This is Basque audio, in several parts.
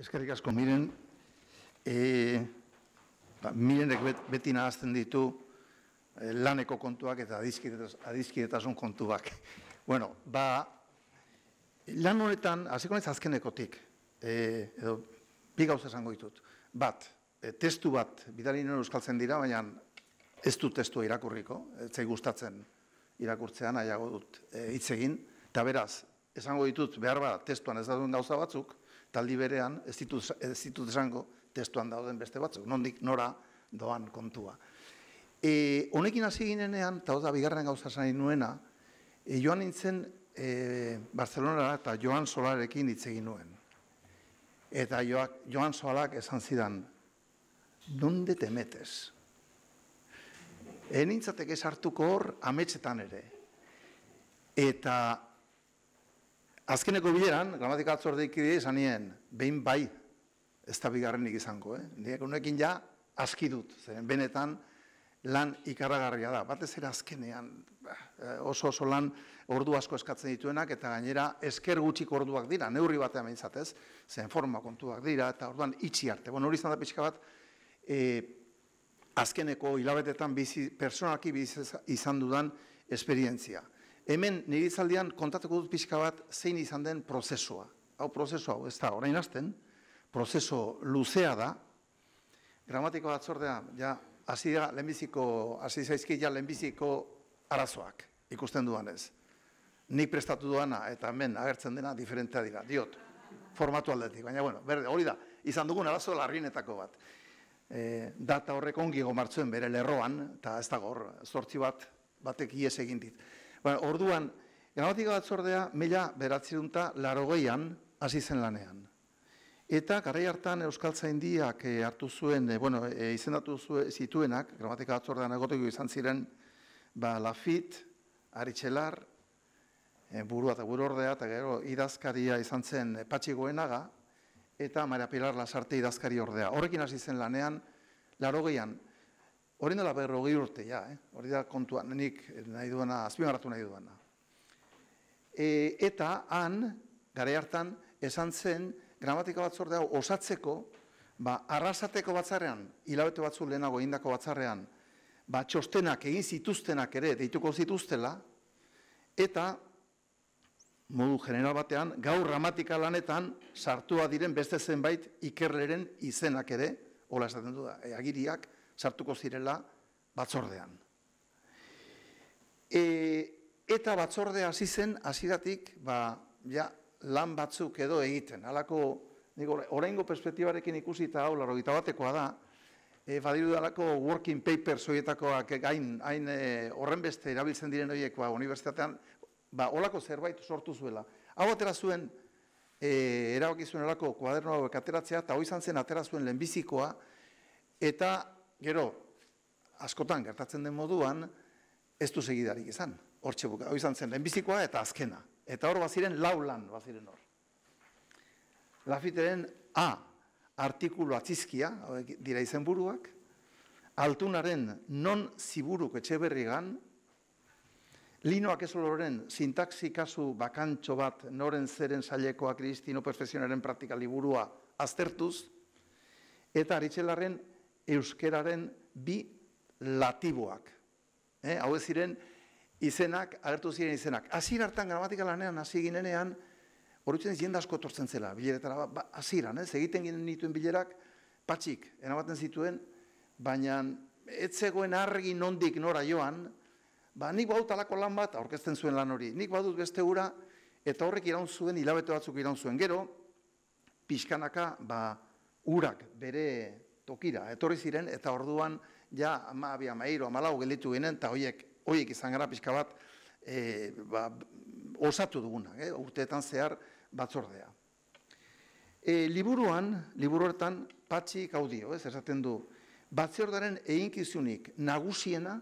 Eskerrik asko, miren, mirenek beti nahazten ditu laneko kontuak eta adizkidetasun kontuak. Bueno, lan honetan, hasiko naiz azkenekotik, edo bi gauza esango ditut. Bat, testu bat, bidali nuen euskaltzen dira, baina ez du testua irakurriko, ez zai gustatzen irakurtzean, nahiago dut hitz egin, eta beraz, esango ditut, behar bat, testuan ez dauden gauza batzuk, taldi berean ez ditut esango testuan dauden beste batzuk, nondik nora doan kontua. Honekin hasi ginenean, eta da bigarren gauza esan nuena, joan nintzen Barcelonara eta Joan Solarekin hitz egin nuen. Eta Joan Solak esan zidan, ¿dónde te metes? Nintzateke sartuko hor ametsetan ere. Eta azkeneko bileran, gramatika batzordekide esan nien, behin bai, ez da bigarrenik izango. Nire honekin ja aski dut, zeren benetan lan ikarragarria da. Batez ere azkenean oso lan ordu asko eskatzen dituenak, eta gainera esker gutxiko orduak dira, neurri batean behintzatez, zen forma kontuak dira, eta orduan itxi arte. Hori izan da pixka bat, azkeneko hilabetetan personalki izan dudan esperientzia. Hemen nire izaldian kontatuko dut pixka bat zein izan den prozesua. Prozesu hau, ez da, orain hasten, prozeso luzea da, gramatiko batzordea, hasi zaizki lehenbiziko arazoak ikusten duanez. Nik prestatu duana eta hemen agertzen dena diferentea dira, diot, formatu aldetik, baina bueno, hori da, izan dugun arazo larrienetako bat. Data horrek ongi gomartzuen bere lerroan, eta ez dago hor, zortzi batek ies egin dit. Orduan, gramatika batzordea 1980an hasi zen lanean. Eta garai hartan Euskaltzaindiak hartu zuen, izendatu zituenak, gramatika batzordean egoteko izan ziren, Lafit, Aritxelar, burua eta buruordea, eta gero idazkaria izan zen Patxi Goenaga, eta Maria Pilar Lasarte idazkari ordea. Horrekin hasi zen lanean, 80an, hori dela 40 urte, hori da kontuan, nik nahi duena, azpimarratu nahi duena. Eta han, garai hartan, esan zen, gramatika batzordea osatzeko, arrasateko batzarrean, hilabete batzu lehenago egindako batzarrean, txostenak egin zituztenak ere deituko zituztela, eta modu general batean, gaur gramatika lanetan sartua diren beste zenbait ikerleren izenak ere, hola esaten du da, agiriak sartuko zirela batzordean. Eta batzordea hasi zen, hasieratik, lan batzuk edo egiten. Halako, oraingo perspektibarekin ikusi eta hau, 81ekoa da, badiru dalako working papers horietakoak hain horren beste erabiltzen diren horiek unibertsitatean, holako zerbait sortu zuela. Hau atera zuen, erabaki zuen olako kuaderno hauek ateratzea, eta hoi izan zen atera zuen lehenbizikoa, eta gero, askotan gertatzen den moduan, ez du segidarik izan, hortxe buka. Hoi izan zen lehenbizikoa eta azkena. Eta hor baziren 4 lan baziren hor. Lafiteren artikulu atzizkia, dira izenburuak, Altunaren non ziburuk Etxeberrigan, Linoak Ezoloren sintaxi kasu bakantxo bat noren zeren sailekoa Kristino Perfezionaren praktika liburua aztertuz, eta Aritxelarren euskeraren 2 latiboak. Hau ez ziren izenak, agertu ziren izenak. Hasiera hartan gramatika lanean hasi ginenean, horretzen jende asko etortzen zela, bileretara, hasieran, egiten ginen nituen bilerak, patxik, eramaten zituen, baina ez zegoen argi nondik nora joan, nik badut alako lan bat, aurkezten zuen lan hori, nik badut beste ura, eta horrek iraun zuen, hilabete batzuk iraun zuen. Gero, pixkanaka, urak bere tokira, etorri ziren, eta orduan, Amabia, Mairo, Amalau gelditu ginen, eta horiek izan gara pixka bat osatu duguna, urteetan zehar batzordea. Liburuetan Patxik hau dio, esaten du, batzordaren eginkizunik nagusiena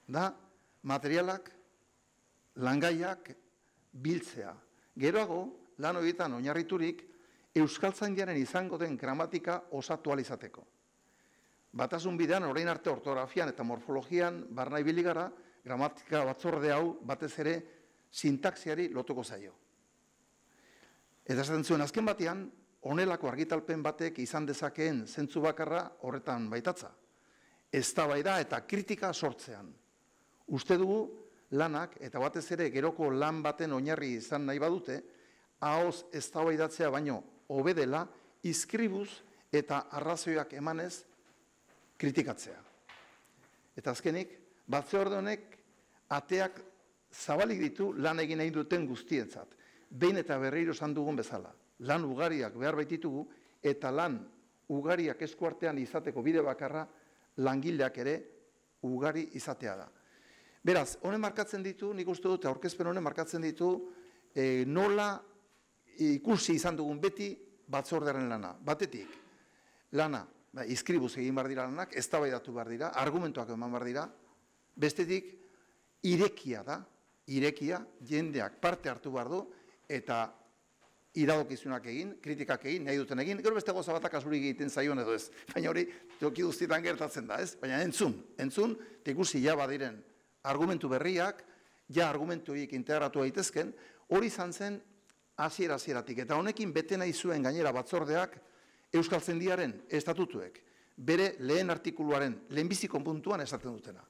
da materialak, langaiak biltzea. Geroago, lan horietan oinarriturik, Euskaltzaindiaren izango den gramatika osatu alizateko. Batasun bidean, orain arte ortografian eta morfologian barna ibili gara, gramatika batzorde hau batez ere sintaxiari lotuko zaio. Eta esaten zuen azken batean, honelako argitalpen batek izan dezakeen zentzu bakarra horretan baitatza. Eztabaida eta kritika sortzean. Uste dugu lanak, eta batez ere geroko lan baten oinarri izan nahi badute, ahoz eztabaidatzea baino hobedela, izkribuz eta arrazoiak emanez kritikatzea. Eta azkenik, batzorde honek ateak zabalik ditu lan egin nahi duten guztientzat. Behin eta berriro esan dugun bezala. Lan ugariak behar baititugu eta lan ugariak eskuartean izateko bide bakarra langileak ere ugari izatea da. Beraz, honen markatzen ditu, nik uste dut, aurkezpen honen markatzen ditu nola ikusi izan dugun beti batzordearen lana. Batetik, lana, izkribuz egin behar dira lanak, eztabaidatu behar dira, argumentuak eman behar dira. Bestetik, irekia da, irekia, jendeak parte hartu behar du, eta iradokizunak egin, kritikak egin, nahi duten egin, gero beste goza batak asurik egiten zaion edo ez. Baina hori, toki guztietan gertatzen da, ez? Baina entzun, eta ikusi ja badiren argumentu berriak, ja argumentu horiek integratu daitezken, hori izan zen hasieratik. Eta honekin bete nahi zuen gainera batzordeak Euskaltzaindiaren estatutuek, bere lehen artikuluaren lehenbiziko puntuan esaten dutena.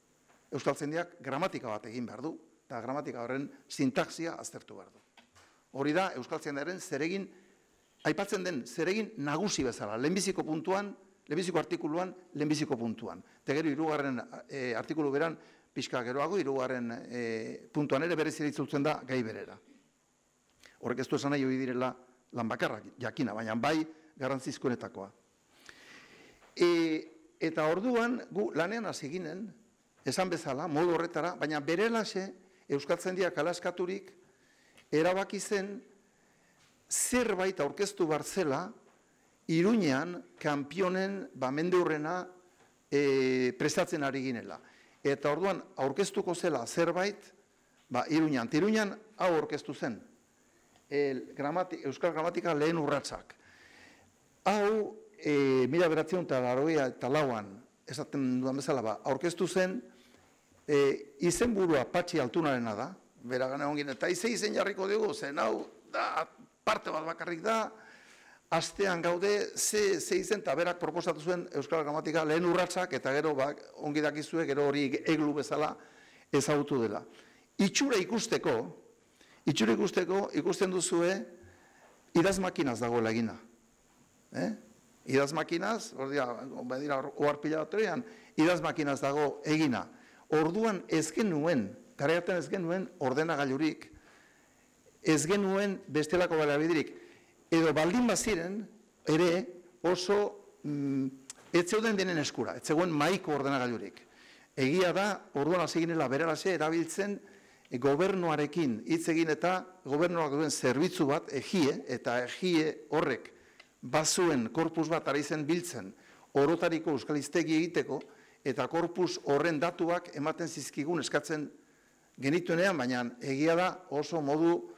Euskaltzaindiak gramatika bat egin behar du, eta gramatika horren sintaxia aztertu behar du. Hori da Euskaltzaindiaren zeregin, aipatzen den zeregin nagusi bezala, lehenbiziko puntuan, lehenbiziko artikuluan, lehenbiziko puntuan. Eta gero hirugarren artikulu beran, pixka geroago, hirugarren puntuan ere berez itzultzen da gai berera. Horrek ez du esan nahi hori direla lan bakarrak, jakina, baina bai garrantzizkoenetakoa. Eta orduan, gu lanean hasi ginen, esan bezala, modu horretara, baina berelaxe Euskaltzaindiak alaskaturik erabaki zen zerbait aurkeztu barzela Iruñean kanpionen mendeurrena prestatzen ari ginela. Eta orduan aurkeztuko zela zerbait Iruñean. Iruñean hau aurkeztu zen. Euskal gramatika lehen urratsak. Hau, 1984an, esaten dudan bezala, aurkeztu zen, izenburua Patxi Altunarena da, bera gana ongin, eta izen jarriko dugu, zen hau, parte bat bakarrik da, astean gaude, ze izen, eta berak proposatu zuen Euskal gramatika lehen urratsak, eta gero ongi dakizue, gero hori eglu bezala ezagutu dela. Itxura ikusteko, ikusten duzue, idazmakinaz dagoela egina. Idazmakinaz, oharpila batean, idazmakinaz dago egina. Orduan ez genuen, garaiaten ez genuen ordenagailurik, ez genuen bestelako baliabiderik. Edo baldin baziren, ere oso ez zeuden denen eskura, ez zegoen mahaiko ordenagailurik. Egia da, orduan hasi ginela beralaxe erabiltzen gobernuarekin hitz egin eta gobernuak duen zerbitzu bat, egie, eta egie horrek bazuen korpus bat ari zen biltzen orotariko euskaliztegi egiteko, eta korpus horren datuak ematen zizkigun eskatzen genituenean, baina egia da oso modu,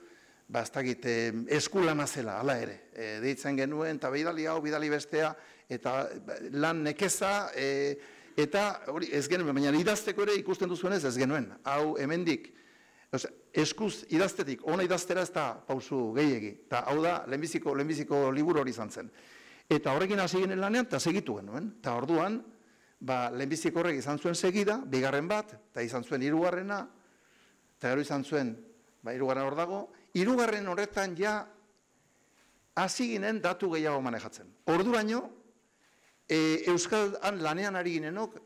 ez dakit, eskulana zela, hala ere. Deitzen genuen, eta bidali hau, bidali bestea, eta lan nekeza, eta hori ez genuen, baina idazteko ere ikusten duzuenez ez genuen. Hau hemendik, eskuz idaztetik, ona idaztera ez da pausu gehiegi. Eta hau da, lehenbiziko liburu hori izan zen. Eta horrekin hasi ginen lanean, eta segitu genuen. Eta orduan, lehenbiziko horrek izan zuen segida, bigarren bat, eta izan zuen hirugarrena, eta gero izan zuen, hirugarren hor dago, hirugarren horretan ja hasi ginen datu gehiago manejatzen. Orduraino, Euskal lanean ari ginenok,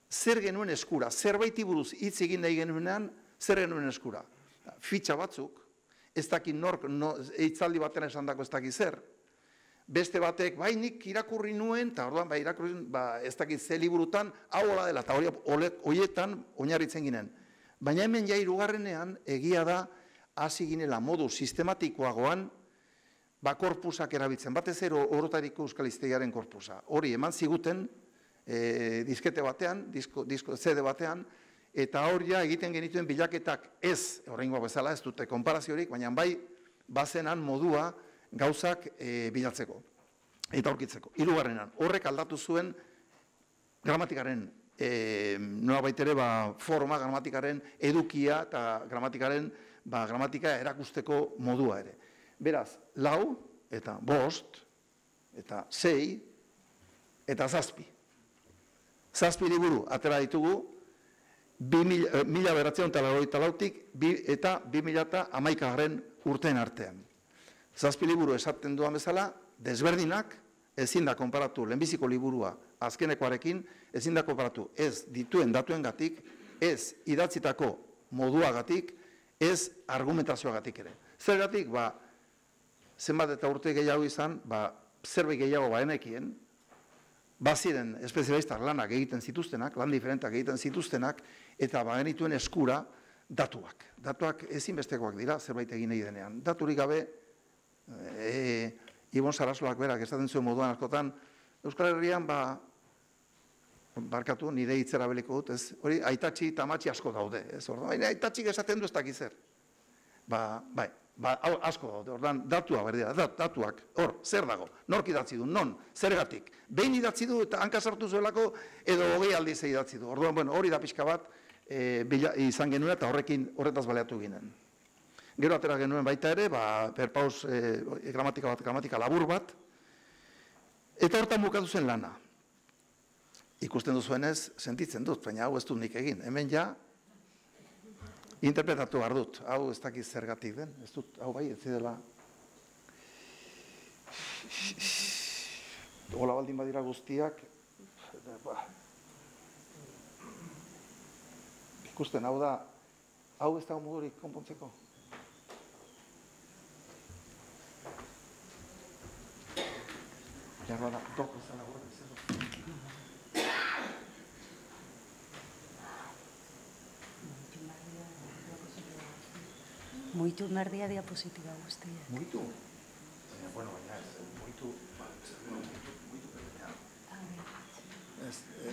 zer genuen eskura, zerbaiti buruz hitz egin nahi genuenean, zer genuen eskura. Fitxa batzuk, ez dakit nork, hitzaldi baten esan dako ez dakit zer. Beste batek, nik irakurri nuen, eta orduan, irakurri nuen, ez dakit ze liburutan, hau hola dela, eta horietan oinarritzen ginen. Baina hemen ja hirugarrenean, egia da, hasi ginela modu sistematikoagoan, korpusak erabiltzen, batez ero orotariko euskaliztegiaren korpusa. Hori, eman ziguten, diskete batean, CD batean, eta hori egiten genituen bilaketak ez, horrengoa bezala ez dute konparaziorik, baina bai, bazenan modua gauzak bilatzeko eta aurkitzeko. Hirugarrenan, horrek aldatu zuen gramatikaren, nola baitere, forma, gramatikaren edukia eta gramatika erakusteko modua ere. Beraz, 4 eta 5, eta 6, eta 7. 7 liburu atera ditugu, 1984tik eta 2011 urteen artean. 7 liburu esaten duan bezala, desberdinak, ezin da konparatu lehenbiziko liburua azkenekoarekin, ezin da konparatu ez dituen datuengatik, ez idatzitako moduagatik, ez argumentazioagatik ere. Zergatik, zenbat eta urte gehiago izan, zerbait gehiago baenekien, baziren espezialistak lanak egiten zituztenak, lan diferentak egiten zituztenak, eta bagenituen eskura datuak. Datuak ezinbestekoak dira, zerbait egin nahi denean. Daturik gabe, Ibon Sarasuak berak esaten zuen moduan askotan, Euskal Herrian, barkatu, nire hitzera beliko dut, ez? Hori, aitatxi eta amatxi asko daude, ez? Baina aitatxik esaten du ez dakizer. Asko daude, ordan, datua berdea, datuak, hor, zer dago, nork idatzi du, non, zergatik. Behin idatzi du eta hanka sartu zuelako, edo 20 aldiz idatzi du. Orduan, hori da pixka bat izan genuen eta horretaz baleatu ginen. Gero atera genuen baita ere, perpaus gramatika labur bat, eta hortan bukatu zen lana. Ikusten duzuenez, sentitzen dut, baina hau ez dut nik egin. Hemen ja, interpretatu behar dut. Hau ez dakiz zergatik den, ez dut, hau bai, ez dela. Ola baldin badira guztiak, ikusten, hau da, hau ez dago modurik konpontzeko. Jarra da, doko zela gure bezero. Muitu merdia diapositiba guztia. Muitu? Bueno, baina ez, muitu,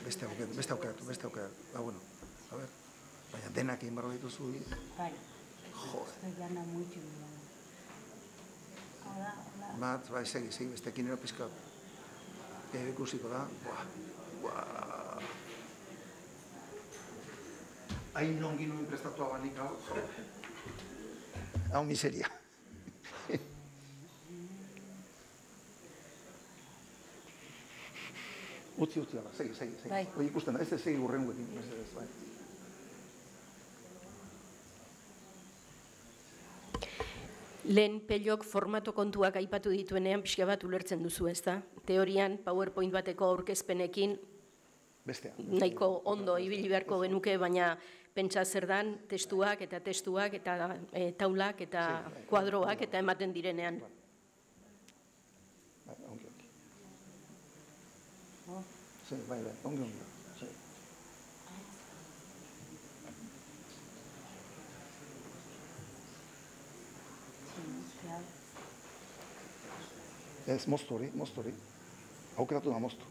beste aukeratu. Bueno, a ver, baina denak egin barro dituzu. Bai. Joder. Jana muitu. Bat, segi, bestekin ero pizka ikusiko da. Hain nongi nuen prestatu abanik hau. Hau miseria. Utzi, ala, segi. Hoi ikusten da, ez segi urrenguekin. Lehen Pelok formato kontuak aipatu dituenean pixka bat ulertzen duzu, ez da? Teorian, PowerPoint bateko aurkezpenekin nahiko ondo ibili beharko genuke, baina pentsa zer dan testuak eta taulak eta kuadroak eta ematen direnean. Ongi. Ez, moztu hori. Aukeratu da, moztu.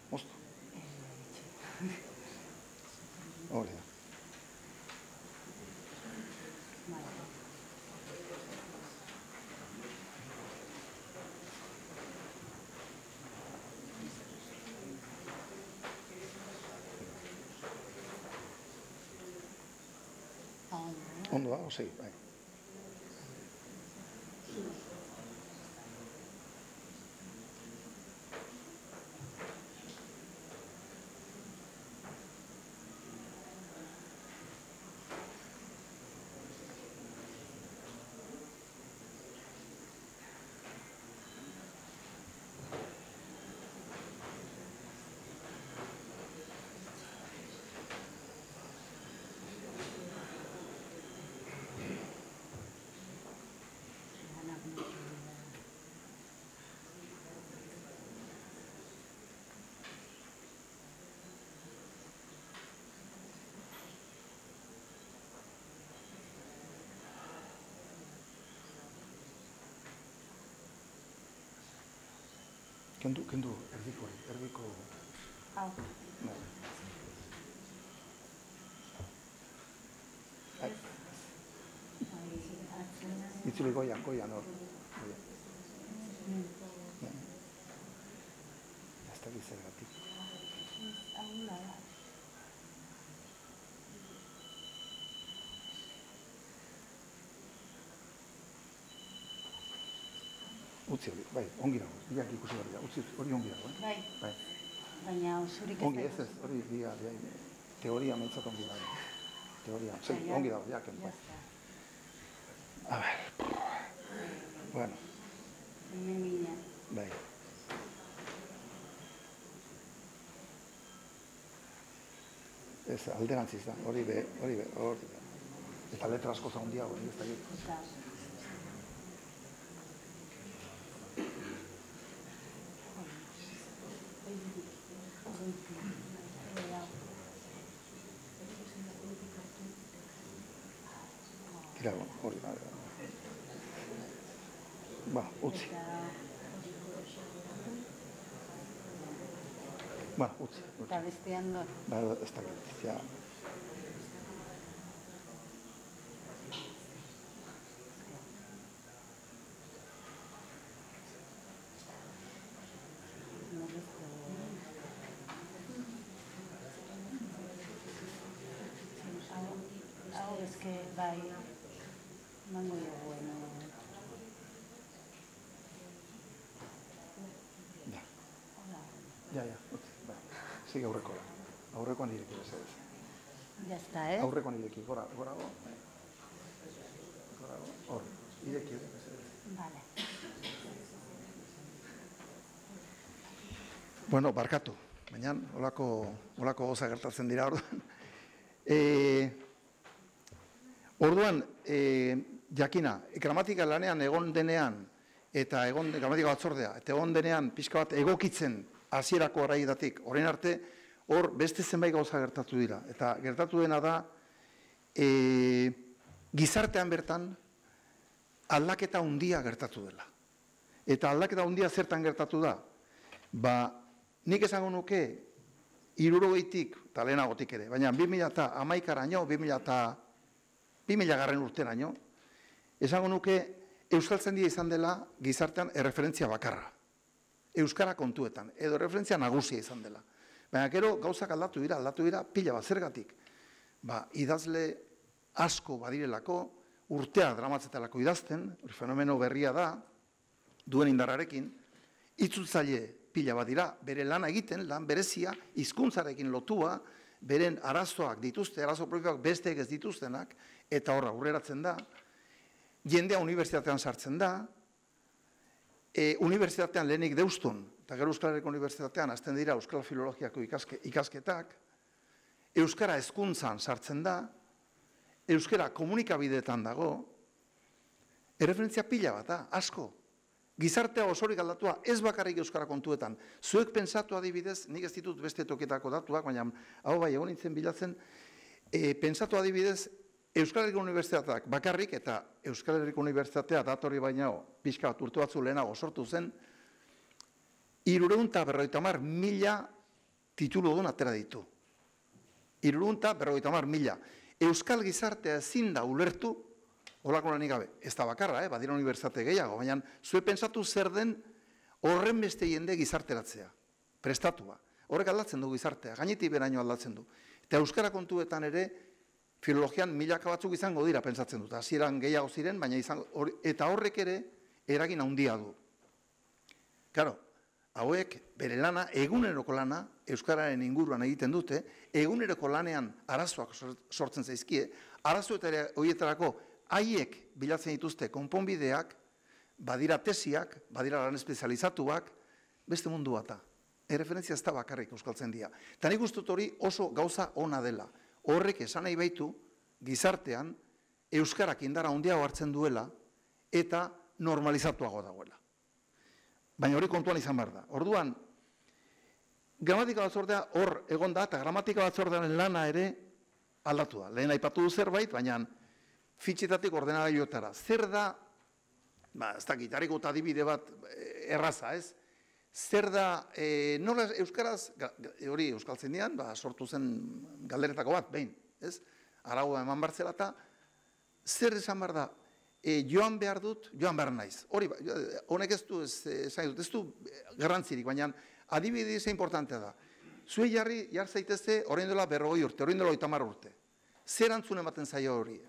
Hori da. Ondo da, osei, bai. Kendu, erdiko... Hau. Itzuli goian, hor. Ez da gizagatik. Utzi hori, bai, ongi dago, biak ikusi behar dira, utzi hori ongi dago, Bai, baina osorik ez Ongi, ez, hori teoria mentzat ongi dago. Teoria, ongi dago, jaken, bai. A ver, bueno. Bai. Ez, alderantziz da, hori be, eta letra asko zaundia hori, ez da gitu. Tira, hori, ba, utzi. Ba, utzi. Eta bestean no. Ba, ez da gitu, ja. Hau, ez que bai, mango jo bueno. Ja, utzi, bai. Sigue aurrekoa. Aurrekoan ireki bezala. Ya está, Aurrekoan ireki, gorago. Hor, ireki bezala. Vale. Bueno, barkatu, baina olako goza gertatzen dira orduan. Orduan, jakina, gramatika lanean egon denean, eta gramatika batzordea, eta egon denean pixka bat egokitzen hasierako araidatik, orain arte, hor beste zenbait gauza gertatu dira. Eta gertatu dena da, gizartean bertan, aldaketa handia gertatu dela. Eta aldaketa handia zertan gertatu da? Ba, nik esango nuke, 60tik, eta lehenagotik ere, baina 2011araino, 2000 urteraino, esango nuke, euskaltzaindia izan dela gizartean erreferentzia bakarra. Euskara kontuetan, edo referentzia nagusia izan dela. Baina gero gauzak aldatu dira pila bat zergatik. Ba, idazle asko badirelako, urtea dramatzetelako idazten, fenomeno berria da, duen indarrarekin, itzultzaile pila bat dira, bere lana egiten, lan berezia, hizkuntzarekin lotua, beren arazoak dituzte, arazo propioak besteek ez dituztenak, eta horra aurreratzen da, jendea unibertsitatean sartzen da, unibertsitatean lehenik Deuston, eta gero Euskal Herriko Unibertsitatean hasten dira Euskal Filologiako ikasketak, Euskara hezkuntzan sartzen da, Euskara komunikabideetan dago, erreferentzia pila bat da, asko. Gizartea osorik aldatua ez bakarrik Euskara kontuetan. Zuek pentsatu adibidez, nik ez ditut beste toketako datuak, baina hau bai egon nintzen bilatzen, pentsatu adibidez, Euskal Herriko Unibertsitateak bakarrik, eta Euskal Herriko Unibertsitatea datorri baina pixka bat urte batzu lehenago sortu zen, 350.000 tituludun atera ditu. 350.000. Euskal gizartea ezin da ulertu, holako lanik gabe, ez da bakarra, badira unibertsitate gehiago, baina zue pentsatu zer den horren beste jende gizarteratzea, prestatua. Horrek aldatzen du gizartea, gainetik beraino aldatzen du. Eta Euskara kontuetan ere, filologian milaka batzuk izango dira, pentsatzen dut. Hasieran gehiago ziren, baina eta horrek ere eragin handia du. Karo, hauek bere lana, eguneroko lana, Euskararen inguruan egiten dute, eguneroko lanean arazoak sortzen zaizkie, arazoetara horietarako haiek bilatzen dituzte konponbideak, badira tesiak, badira lan espezializatuak, beste mundu bata. Erreferentzia ez da bakarrik euskaltzaindia. Eta nik uste dut hori oso gauza ona dela. Horrek esan nahi baitu, gizartean, euskarak indara handiago hartzen duela, eta normalizatuago dagoela. Baina hori kontuan izan behar da. Orduan, gramatika batzordea hor egon da, eta gramatika batzordearen lana ere aldatu da. Lehen aipatu du zerbait, baina fitxetatik ordenagailuetara. Zer da, ez dakit, hariko eta adibide bat erraza, ez? Zer da, nola euskaraz, hori euskaltzaindian, sortu zen galderetako bat, behin, ez? Araua eman bartzela eta, zer esan behar da, joan behar dut, joan behar naiz. Hori, honek ez du, ez du garrantzirik, baina adibide ze importantea da. Zue jarri zaitezte, orain dela 40 urte, orain dela 30 urte. Zer antzun ematen zaio hori?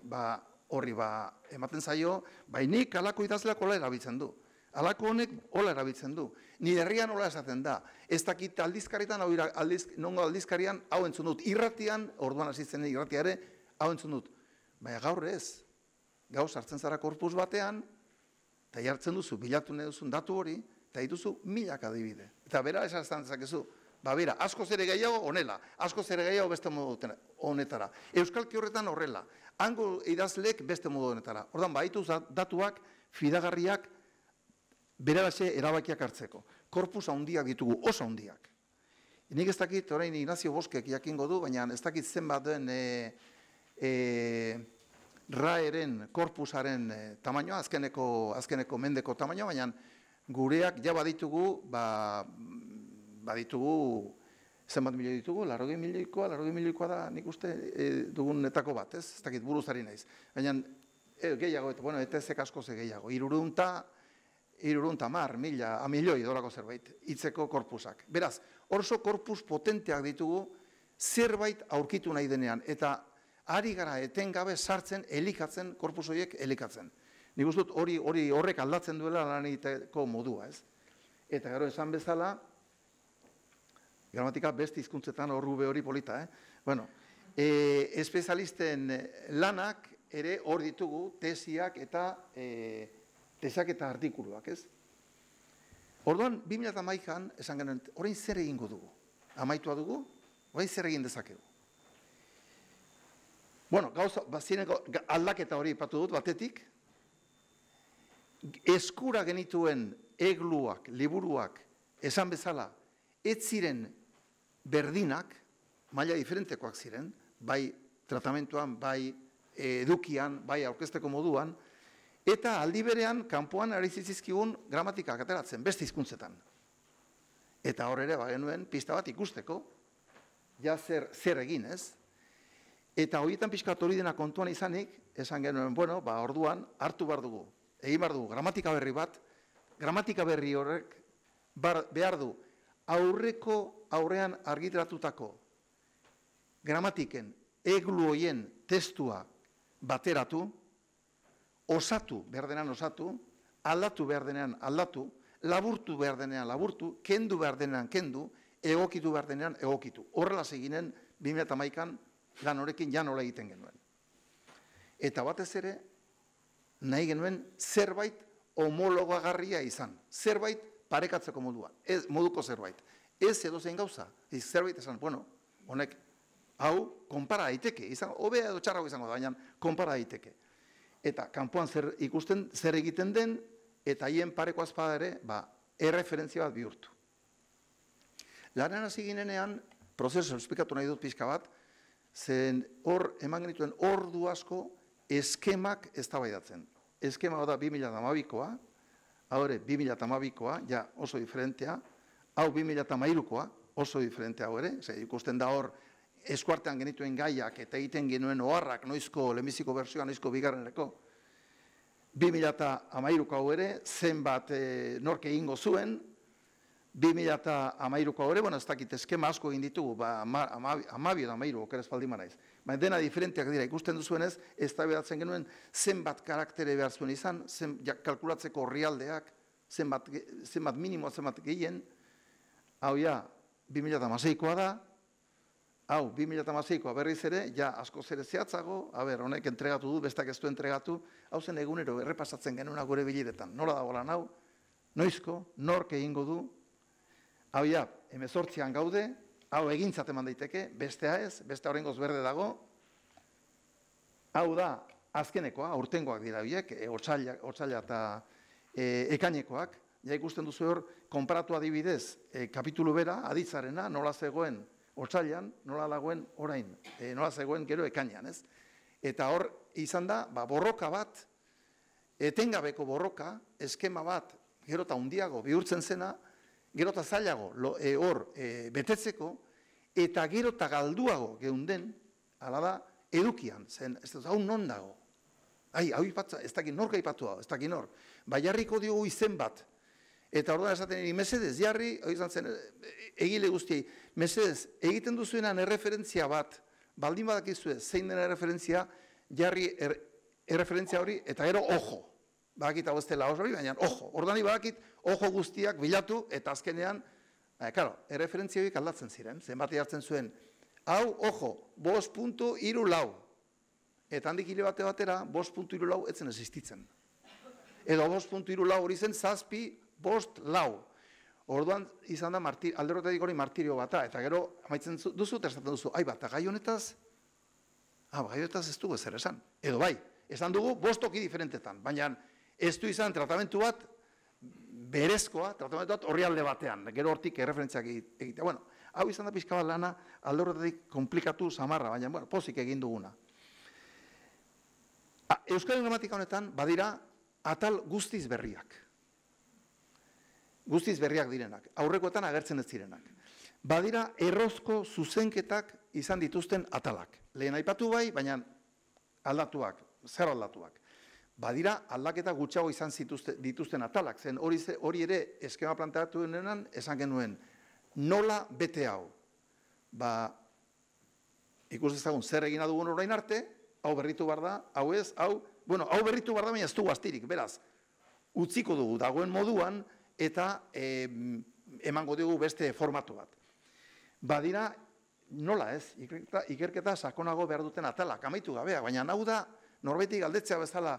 Ematen zaio, nik halako idazleak hola erabiltzen du. Halako honek hola erabiltzen du. Nire herrian hola esaten da. Ez dakit aldizkaritan, nongo aldizkarian hau entzun dut. Irratian, orduan hasitzen irratia ere, hau entzun dut. Baina gaur ez. Gaur sartzen zara korpus batean, eta jartzen duzu, bilatu nahi duzun datu hori, eta dituzu milak adibide. Eta bera esan dezakezu. Bera, askoz ere gehiago honela, askoz ere gehiago beste modu honetara. Euskalki horretan horrela, hango idazleek beste modu honetara. Ordan baitu datuak, fidagarriak, beraraxe erabakiak hartzeko. Korpus handiak ditugu, oso handiak. Nik ez dakit, orain Ignacio Boskek jakingo du, baina ez dakit zenbat den RAEren, korpusaren tamainoa, azkeneko mendeko tamainoa, baina gureak ja baditugu, baditugu, zenbat milioi ditugu, 80 milioikoa da, nik uste dugunetako bat, ez dakit buruzari naiz. Baina gehiago, bueno, ETZ-ek asko ze gehiago, 310 milioi dolako zerbait, hitzeko korpusak. Beraz, orso korpus potenteak ditugu, zerbait aurkitu nahi denean, eta ari gara etengabe sartzen, elikatzen, korpus horiek elikatzen. Nik uste dut horrek aldatzen duela lan egiteko modua, ez? Eta gero esan bezala, gramatika beste hizkuntzetan horrube hori polita, Bueno, espezialisten lanak ere hor ditugu tesiak eta artikuluak, ez? Orduan, 2011an, esan genuen, orain zer egingo dugu? Amaitua dugu? Orain zer egin dezakegu? Bueno, bazieneko aldaketa hori ipatu dut, batetik, eskura genituen egluak, liburuak, esan bezala, ez ziren berdinak, maila diferentekoak ziren, bai tratamentuan, bai edukian, bai aurkezteko moduan, eta aldi berean, kanpoan ari zizkigun gramatikak ateratzen, beste hizkuntzetan. Eta hor ere, genuen pista bat ikusteko, ja zer egin, ez? Eta horietan pixkat hori dena kontuan izanik, esan genuen, bueno, orduan, hartu behar dugu, egin behar dugu, gramatika berri bat, gramatika berri horrek behar du, aurrean argitaratutako gramatiken eglu hoien testua bateratu, osatu behar denean osatu, aldatu behar denean aldatu, laburtu behar denean laburtu, kendu behar denean kendu, egokitu behar denean egokitu. Horrela zeginen 2011an lan horrekin ja nola egiten genuen. Eta batez ere, nahi genuen zerbait homologagarria izan, zerbait parekatzeko moduko zerbait. Ez edo zein gauza, zerbait esan, bueno, honek, hau, konpara daiteke, hobea edo txarrago izango da, baina konpara daiteke. Eta kanpoan ikusten zer egiten den, eta haien pareko azpada ere, erreferentzia bat bihurtu. Lanean hasi ginenean, prozesu esplikatu nahi dut pixka bat, zen hor, eman genituen ordu asko, eskemak eztabaidatzen. Eskema da 2012koa, hau ere 2012koa, ja oso diferentea, hau 2013koa, oso diferentea hau ere, ikusten da hor, eskuartean genituen gaiak eta egiten genuen oharrak noizko lehenbiziko bertsioa, noizko bigarreneko. 2013ko hau ere, zenbat nork egingo zuen, 2013ko hau ere, bueno, ez dakit eskema asko egin ditugu, 12 edo 13, okeraz baldin manaiz. Baina dena diferenteak dira, ikusten duzuenez, ez da bedatzen genuen zenbat karaktere behar zuen izan, kalkulatzeko orrialdeak, zenbat minimoa, zenbat gehien, hau ja, 2016koa da, hau, 2016koa berriz ere, ja asko zere zehatzago, honek entregatu du, bestak ez du entregatu, hau zen egunero errepasatzen genuen gure bileretan. Nola dago lan hau, noizko, nork egingo du, hau ja, 18an gaude, hau egintzat eman daiteke, bestea ez, bestea horrengoz berde dago, hau da, azkenekoa, aurtengoak dira horiek, otsaila eta ekainekoak, ja ikusten duzu hor, konparatu adibidez, kapitulu bera, aditzarena, nola zegoen otsailean, nola dagoen orain, nola zegoen gero ekainean, ez? Eta hor, izan da, borroka bat, etengabeko borroka, eskema bat, gero eta handiago bihurtzen zena, gero eta zailago hor betetzeko, eta gero eta galduago geunden, hala da, edukian, zen, ez da, hau non dago? Hau ipatza, ez dakit nork aipatu hau, ez dakit nor. Jarriko diogu izen bat, eta orduan esaten eri, mesedez, jarri, izan zen, egile guztiei, mesedez, egiten duzuenan erreferentzia bat, baldin badakizue, zein dena erreferentzia, jarri erreferentzia hori, eta gero ojo. badakit hau ez dela hori, baina ojo, ordani badakit, ojo guztiak bilatu, eta azkenean, erreferentzia horiek aldatzen ziren, zenbati hartzen zuen, hau, ojo, 5.34, eta handik hile batera, 5.34 etzen existitzen. Edo 5.34 hori zen 7.54. Orduan izan da alderrotetik hori martirio bata, eta gero amaitzen duzu, eta esaten duzu, bat, gai honetaz ez dugu ezer esan. Edo bai, esan dugu 5 toki diferentetan, baina ez du izan tratamentu bat berezkoa, tratamentu bat horri alde batean, gero hortik erreferentziak egitea. Bueno, hau izan da pixka bat lana, alderrotetik komplikatu samarra, baina pozik egin duguna. Euskal gramatika honetan badira atal guztiz berriak. Guztiz berriak direnak, aurrekoetan agertzen ez direnak. Badira errozko zuzenketak izan dituzten atalak. Lehen aipatu bai, baina aldatuak, zer aldatuak. Badira aldaketa gutxago izan dituzten atalak, zen hori ere eskema planteatu denean esan genuen, nola bete hau? Ikus dezagun zer egina dugun orain arte, hau berritu behar da, hau ez, hau berritu behar da, baina ez dugu astirik, beraz, utziko dugu dagoen moduan, eta emango dugu beste formatu bat. Badira, nola ez, ikerketa sakonago behar duten atalak, amaitu gabeak, baina hau da, norbaitik galdetzea bezala,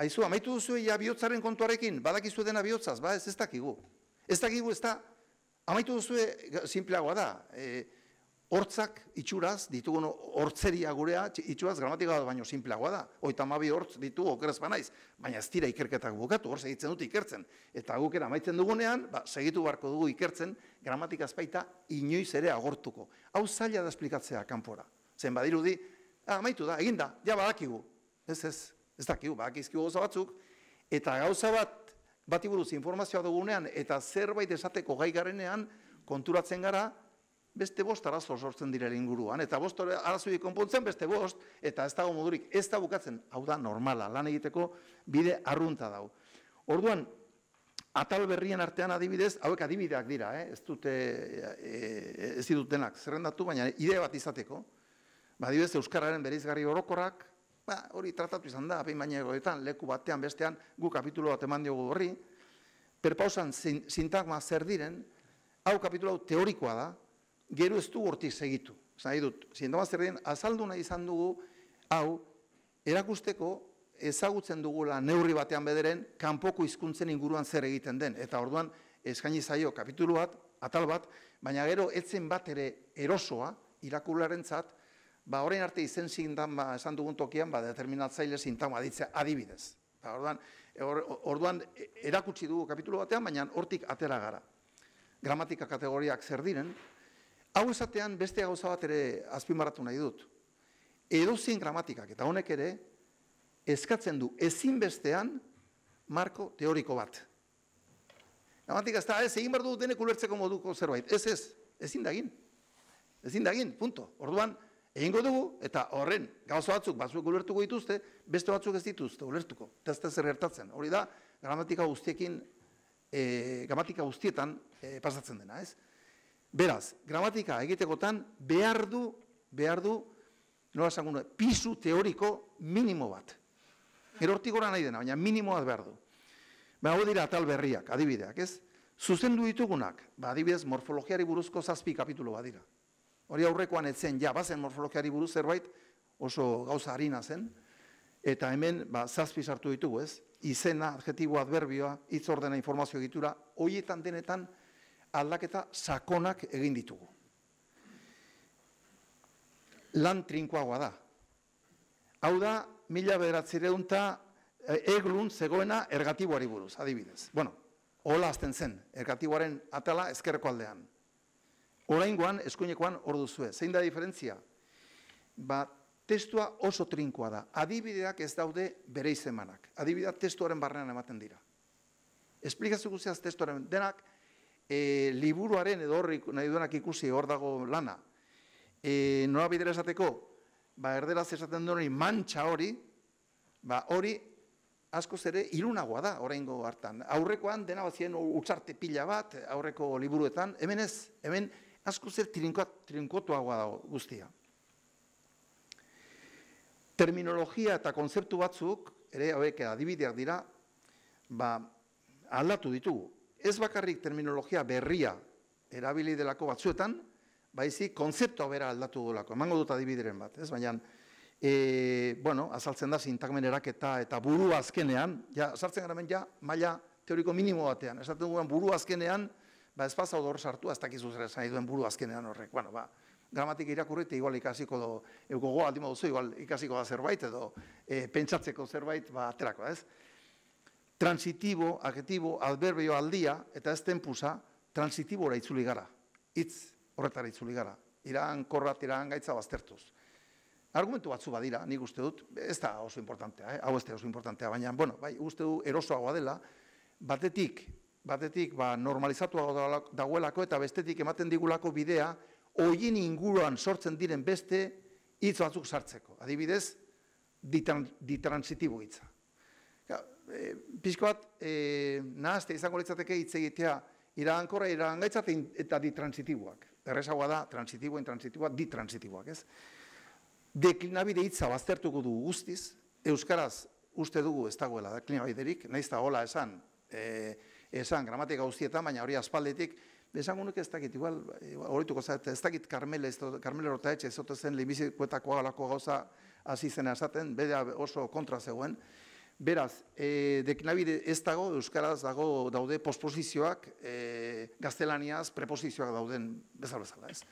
aizu, amaitu duzu bihotzaren kontuarekin, badakizu dena bihotzaz, ez dakigu. Ez dakigu, ez da, amaitu duzu simpleagoa da, hortzak itxuraz, ditugun hortzeria gurea, itxuraz gramatika bat baino simpleagoa da. 32 hortz ditu okerez banaiz, baina ez dira ikerketak bukatu, hor segitzen dut ikertzen. Eta gukera amaitzen dugunean, segitu beharko dugu ikertzen, gramatika ezpaita inoiz ere agortuko. Hau zaila da esplikatzea kanpora. Zen badirudi, amaitu da, eginda, ja badakigu. Ez dakigu, badakizkigu gauza batzuk, eta gauza bati buruz informazioa dugunean, eta zerbait esateko gai garenean, konturatzen gara, beste 5 arazo sortzen direla inguruan, eta 5 arazoik konpontzen beste 5, eta ez dago modurik, ez da bukatzen, hau da normala, lan egiteko bide arrunta dau. Orduan, atal berrien artean adibidez, hauek adibideak dira, ez ditutenak zerrendatu, baina idea bat izateko, adibidez, euskararen bereizgarri orokorrak, hori tratatu izan da, apein baina egoetan, leku batean, bestean, gu kapitulo bat eman diogu horri, perpausan sintagma zer diren, hau kapitulo teorikoa da, gero ez du hortik segitu. Zai dut, sintagma zer diren, azaldu nahi izan dugu, hau, erakusteko ezagutzen dugula neurri batean bederen, kanpoko hizkuntzen inguruan zer egiten den. Eta orduan, eskaini zaio kapitulu bat, atal bat, baina gero etzen bat ere erosoa, irakurlarentzat, orain arte izen sintagma esan dugun tokian, determinatzaile sintagma ditzea adibidez. Orduan, erakutsi dugu kapitulu batean, baina hortik atera gara. Gramatika kategoriak zer diren, hau esatean beste gauza bat ere azpimarratu nahi dut. Edozein gramatikak, eta honek ere, eskatzen du ezinbestean marko teoriko bat. Gramatika ez da, egin behar du denek ulertzeko moduko zerbait. Ezin da egin, punto. Orduan, egingo dugu, eta horren gauza batzuk ulertuko dituzte, beste batzuk ez dituzte ulertuko. Ez da zer gertatzen. Hori da, gramatika guztietan pasatzen dena, ez? Beraz, gramatika egitekotan behar du, nola esango nuen, pisu teoriko minimo bat. Erortik gora nahi dena, baina minimo bat behar du. Hau dira atal berriak, adibideak, ez? Zuzendu ditugunak, adibidez, morfologiari buruzko 7 kapitulu bat dira. Hori aurrekoan etzen, bazen morfologiari buruz zerbait, oso gauza harina zen, eta hemen 7 sartu ditugu, ez? Izena, adjetibo, adverbioa, hitz ordena, informazio egitura, horietan denetan aldaketa sakonak egin ditugu. Lan trinkoagoa da. Hau da, 1900 eglun zegoena ergatiboari buruz, adibidez. Hola azten zen, ergatiboaren atala ezkerreko aldean. Oraingoan, eskuinekoan hor duzue. Zein da diferentzia? Testua oso trinkoa da. Adibideak ez daude bere izemanak. Adibideak testuaren barrean ematen dira. Esplikazio guztiaz testuaren denak, liburuaren edo horri nahi duenak ikusi hor dago lana. Nola bidera esateko, erderaz esaten duen mantxa hori, hori askoz ere ilunagoa da oraingo hartan. Aurrekoan dena bazien utzarte pila bat, aurreko liburuetan, hemen ez, hemen askoz ere trinkotuagoa dago guztia. Terminologia eta kontzeptu batzuk, ere hauek adibideak dira, aldatu ditugu. Ez bakarrik terminologia berria erabili delako batzuetan, baizik kontzeptua bera aldatu delako. Emango dut adibideren bat, ez? Baina, azaltzen da sintagmen eraketa eta buru azkenean, sartzen gara ja, maila teoriko minimo batean. Esaten duen buru azkenean, ez pasau hor sartu, ez dakizu zer esan duen buru azkenean horrek. Gramatik irakurri eta igual ikasiko do, gogoa aldimo duzu, igual ikasiko da zerbait edo pentsatzeko zerbait aterako, ez? Transitibo, adjetibo, adverbio aldia, eta ez tempusa, transitibora itzuli gara. Hitz horretara itzuli gara. Iragangaitza baztertuz. Argumentu batzu badira, nik uste dut, ez da oso importantea, hau ez da oso importantea, baina, bai, uste du erosoagoa dela, batetik normalizatuago dagoelako eta bestetik ematen digulako bidea, horien inguruan sortzen diren beste hitz batzuk sartzeko. Adibidez, ditransitibo hitza. Pixko bat, nahazte izango litzateke hitz egitea iragankorra, iragangaitza eta ditransitiboak. Errezagoa da, transitiboa, intransitiboa, ditransitiboak, ez? Deklinabide hitza baztertuko dugu guztiz, euskaraz uste dugu ez dagoela deklinabiderik, nahiz da hola esan gramatika guztietan, baina hori aspaldetik, esango nuke ez dakit, igual, horituko zait, ez dakit Carmelo Rotaetxe ez zote zen lehenbizikoetako galako gauza hasi zena esaten, bera oso kontra zegoen. Beraz, deklinabide ez dago, euskaraz daude posposizioak, gaztelaniaz preposizioak dauden bezala, ez?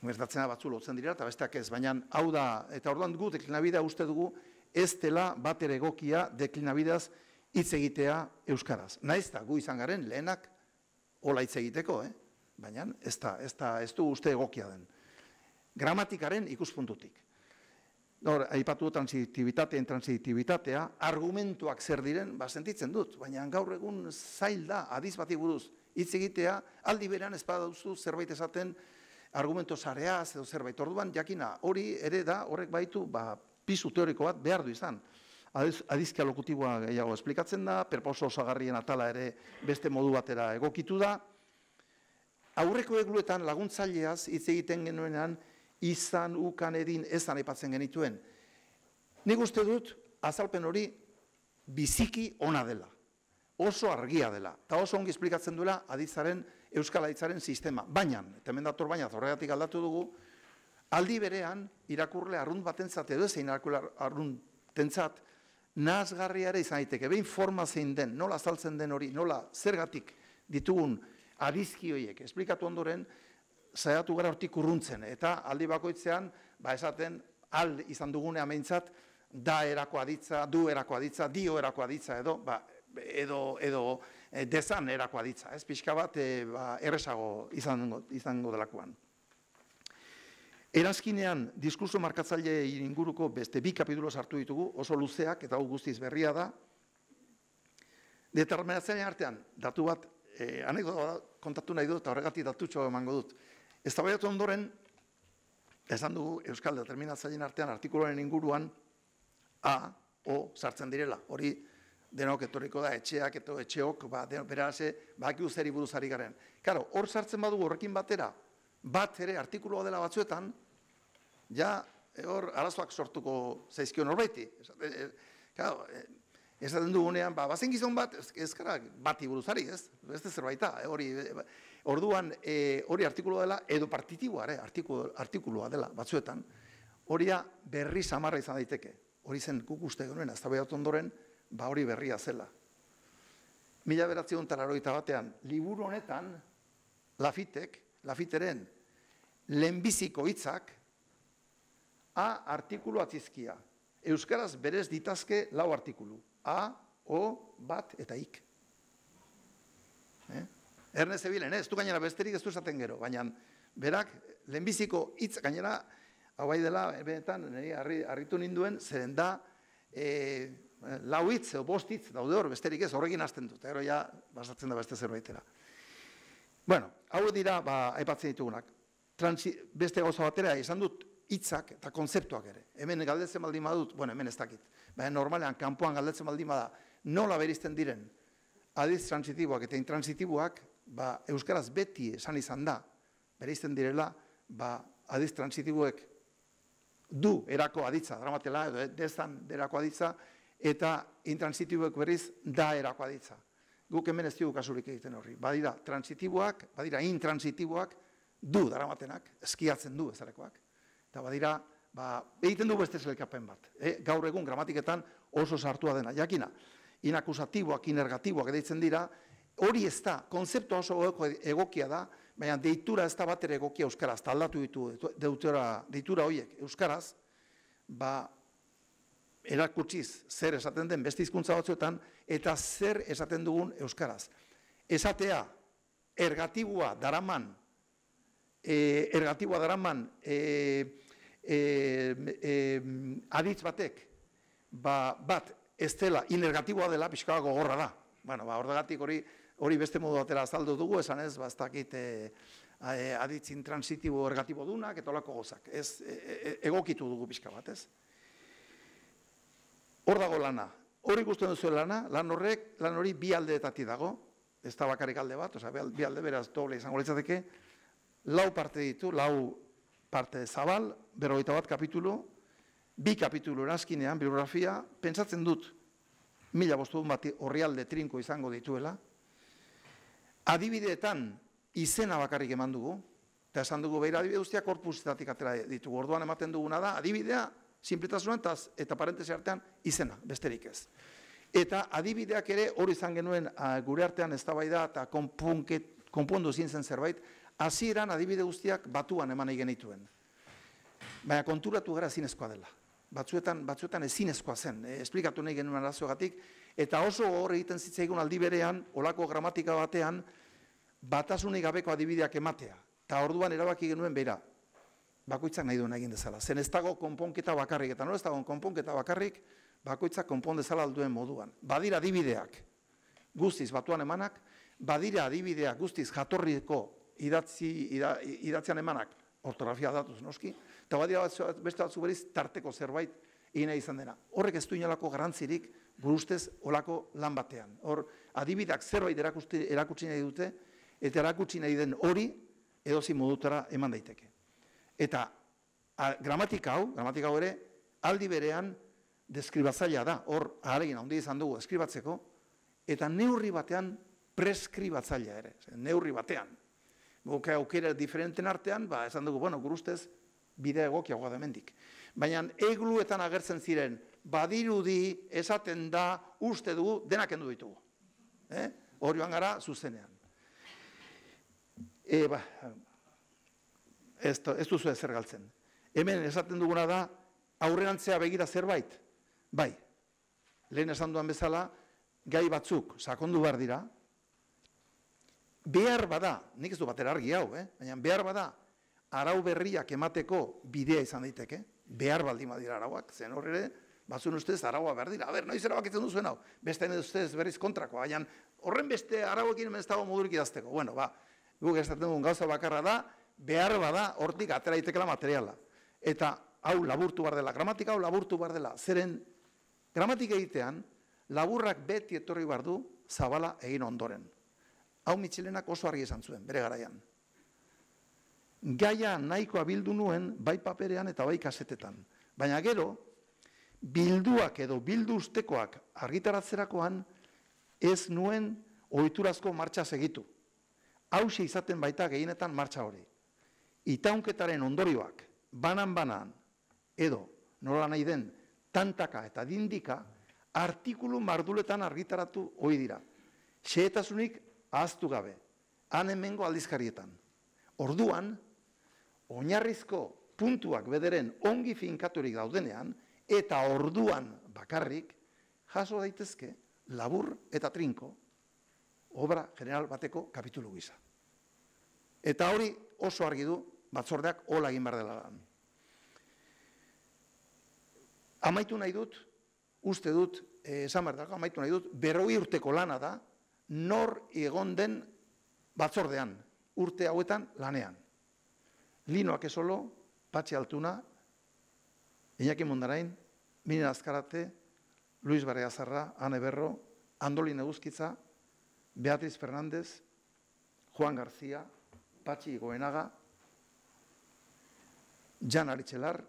Gertatzena batzu lotzen dira, eta besteak ez, baina hau da, eta orduan gu deklinabidea uste dugu ez dela bat ere egokia deklinabidaz hitz egitea euskaraz. Naiz da, gu izan garen lehenak hola hitz egiteko, baina ez du uste egokia den. Gramatikaren ikuspuntutik. Aipatu transitibitatea, intransitibitatea, argumentuak zer diren, sentitzen dut, baina gaur egun zail da, adiz bati buruz hitz egitea, aldi berean ez baduzu zerbait esaten argumento sareaz edo zerbait. Orduan, jakina, hori ere da, horrek baitu, pisu teoriko bat behar du izan. Adizkia lokutiboa gehiago esplikatzen da, perposo osagarrien atala ere beste modu batera egokitu da. Aurreko egluetan laguntzaileaz hitz egiten genuenean, izan, ukan, edin, ezan aipatzen genituen. Nik uste dut, azalpen hori biziki ona dela. Oso argia dela. Eta oso ongi esplikatzen duela aditzaren, euskal aditzaren sistema. Baina, eta hemen dator baina, horregatik aldatu dugu, aldi berean, irakurle arrunt batentzat edo ezein irakurle arruntentzat, nahasgarria ere izan daiteke, behin forma zein den, nola azaltzen den hori, nola zergatik ditugun adizki horiek, esplikatu ondoren, saiatu gara hortik urruntzen, eta aldi bakoitzean, esaten, izan dugunean behintzat, da erako aditza, du erako aditza, dio erako aditza edo dezan erako aditza, ez pixka bat errezago izango delakoan. Erazkinean, diskurso markatzaile inguruko beste 2 kapitulo sartu ditugu, oso luzeak eta guztiz berria da. Determinatzailean artean, datu bat, anekdota kontatu nahi dut, eta horregatik datutxo emango dut. Eztabaidatu ondoren, esan dugu Euskal Determinatzaileen artean artikuluaren inguruan A, O sartzen direla. Hori denok etorriko da, etxeak eta etxeok, berase, bakiu zeri buruzari garen. Karo, hor sartzen badugu horrekin batera, bat ere artikuloa dela batzuetan, ja hor arazoak sortuko zaizkion horbaiti. Esaten dugunean, bazen gizon bat, ez gara bati buruzari, ez? Ez da zerbaita, orduan hori artikuloa dela, edo partitiboa, artikuloa dela batzuetan, hori berri samarra izan daiteke. Hori zen guk uste genuen, eztabaidatu ondoren, hori berria zela. 1981 liburu honetan, Lafiteren lehenbiziko hitzak A artikulu atzizkia. Euskaraz berez ditazke 4 artikulu. A, O, bat eta ik. Ernest Ebilen, ez du gainera besterik ez du esaten gero, baina berak lehenbiziko hitz gainera, hau bai dela, benetan, harritu ninduen, zeren da, 4 hitz edo 5 hitz daude hor, besterik ez, horrekin hasten dut, ero ja, basatzen da beste zerbaitera. Bueno, hau dira, aipatzen ditugunak. Beste gauza batera, izan dut hitzak eta konzeptuak ere. Hemen galdetzen baldin badut, hemen ez dakit. Baina normalean, kanpoan galdetzen baldin bada, nola berizten diren adiz transitiboak eta intransitiboak, euskaraz beti esan izan da, berizten direla, adiz transitiboek du erako aditza, dramatela, edo dezan erako aditza, eta intransitiboek berriz da erakoa ditza. Guk hemen ez dugu kasurik egiten horri. Badira transitiboak, badira intransitiboak, du daramatenak, eskiatzen du bezalekoak. Eta badira, egiten du beste zelkapen bat. Gaur egun gramatiketan oso sartua dena. Jakina, inakusatiboak, inergatiboak deitzen dira, hori ez da, konzeptua oso egokia da, baina deitura ez da bat ere egokia euskaraz, eta aldatu ditu deitura horiek euskaraz, erakutsiz zer esaten den beste hizkuntza batzuetan, eta zer esaten dugun euskaraz. Esatea, ergatiboa daraman aditz batek, bat ez dela, inergatiboa dela, pixka gogorra da. Bueno, horregatik hori beste modu batera azaldu dugu, esan ez, ez dakit aditz intransitibo ergatibo dunak, eta olako gozak. Egokitu dugu pixka bat, ez? Hor dago lana. Hori ikusten duzu lana, lan hori bi aldeetatik dago, ez da bakarrik alde bat, bi alde beraz doble izango litzateke, 4 parte ditu, 4 parte zabal, 51 kapitulu, 2 kapitulu erazkinean, bibliografia, pentsatzen dut, 1500 bat orrialde trinko izango dituela, adibideetan izena bakarrik eman dugu, eta esan dugu behira adibide guztiak korpusetatik atera ditugu, orduan ematen duguna da, adibidea, sinpletasunan eta parentesi artean izena, besterik ez. Eta adibideak ere hori izan genuen gure artean eztabaida eta konpondu ezin zen zerbait, hasieran adibide guztiak batuan eman egin genituen. Baina konturatu gara ezinezkoa dela. Batzuetan ezinezkoa zen, esplikatu nahi genuen arazoagatik, eta oso hor egiten zitzaigun aldi berean, olako gramatika batean, batasunik gabeko adibideak ematea. Eta orduan erabaki genuen behira, bakoitzak nahi duen egin dezala. Zen ez dago konponketa bakarrik, eta ez dago konponketa bakarrik, bakoitzak konpon dezala alduen moduan. Badira adibideak guztiz batuan emanak, badira adibideak guztiz jatorriko idatzian emanak, ortografia datuz noski, eta badira beste batzu beriz tarteko zerbait egin izan dena. Horrek ez du inolako garrantzirik gure ustez olako lan batean. Hor, adibideak zerbait erakutsi nahi dute, eta erakutsi nahi den hori edozi modutara eman daiteke. Eta gramatika hau ere, aldi berean deskribatzailea da, hor ahalegin handi izan dugu deskribatzeko, eta neurri batean preskribatzailea ere, neurri batean. Guk aukera diferenten artean, esan dugu, gure ustez, bidea egokiagoa da hemendik. Baina egluetan agertzen ziren, badirudi, esaten da, uste dugu, denak kendu ditugu. Hor joan gara, zuzenean. Ez duzu ezer galtzen. Hemen esaten duguna da, aurrerantzea begira zerbait. Bai, lehen esan duan bezala, gai batzuk sakondu behar dira, behar bada, nik ez du batera argi hau, baina behar bada, arau berriak emateko bidea izan daiteke, behar baldin badira arauak, zen horre, batzun ustez araua behar dira. Noiz erabakitzen duzuen hau, beste ustez berriz kontrakoa, baina horren beste arauekin hemen ez dago modurik idazteko. Guk esaten dugun gauza bakarra da, behar bada hortik atera daitekela materiala. Eta hau laburtu behar dela, gramatika hau laburtu behar dela. Zeren gramatika egitean, laburrak beti etorri behar du zabala egin ondoren. Hau Mitxelenak oso argi esan zuen, bere garaian. Gaia nahikoa bildu nuen, bai paperean eta bai kasetetan. Baina gero, bilduak edo bildu ustekoak argitaratzerakoan, ez nuen ohiturazko martxa segitu. Hauxe izaten baita gehienetan martxa hori. Itaunketaren ondorioak, banan edo nola nahi den tantaka eta dindika, artikulu marduletan argitaratu ohi dira. Xehetasunik ahaztu gabe, han hemengo aldizkarietan. Orduan, oinarrizko puntuak bederen ongi finkaturik daudenean, eta orduan bakarrik, jaso daitezke labur eta trinko, obra general bateko kapitulu gisa. Eta hori oso argi du batzordeak hola egin behar dela lan. Amaitu nahi dut, uste dut, esan behar dago, amaitu nahi dut, 40 urteko lana da, nor egon den batzordean, urte hauetan lanean. Linoak esolo, Patxi Altuna, Iñaki Mundarain, Minen Azkarate, Luis Barriazarra, Ane Berro, Andolin Eguzkitza, Beatriz Fernández, Juan García, Patxi Goenaga, Jan Aritxelar,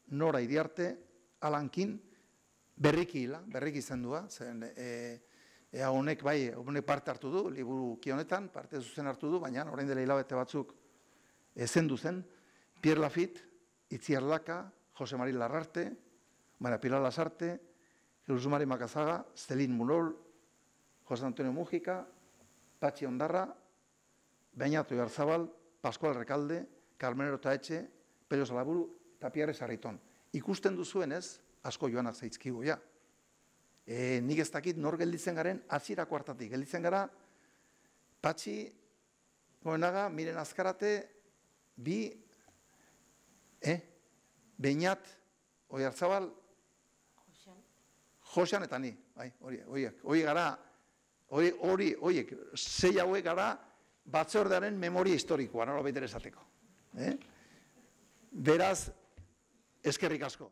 Nora Iriarte, Alankin, berriki izendua, zen honek bai, honek parte hartu du, liburuki honetan, parte zuzen hartu du, baina orain dela hilabete batzuk ezendu zen, Pierre Lafitte, Itziar Laka, Jose Mari Larrarte, María Pilar Lasarte, Jesús Mari Macazaga, Celín Murol, José Antonio Mújica, Patxi Ondarra, Beñato Ibarzabal, Pascual Recalde, Carmenero Taetxe, Pello Salaburu, eta Pierre Sarriton. Ikusten duzuenez, asko joanak zaizkigu, ja. Nik ez dakit nor gelditzen garen, hasierako hartatik. Gelditzen gara, Patxi, Goenaga, Miren Azkarate, Beñat, Oiarzabal, Josean eta ni, horiek gara, horiek, sei hauek gara batzordearen memoria historikoa, nola baitere esateko. Beraz, eskerrik asko.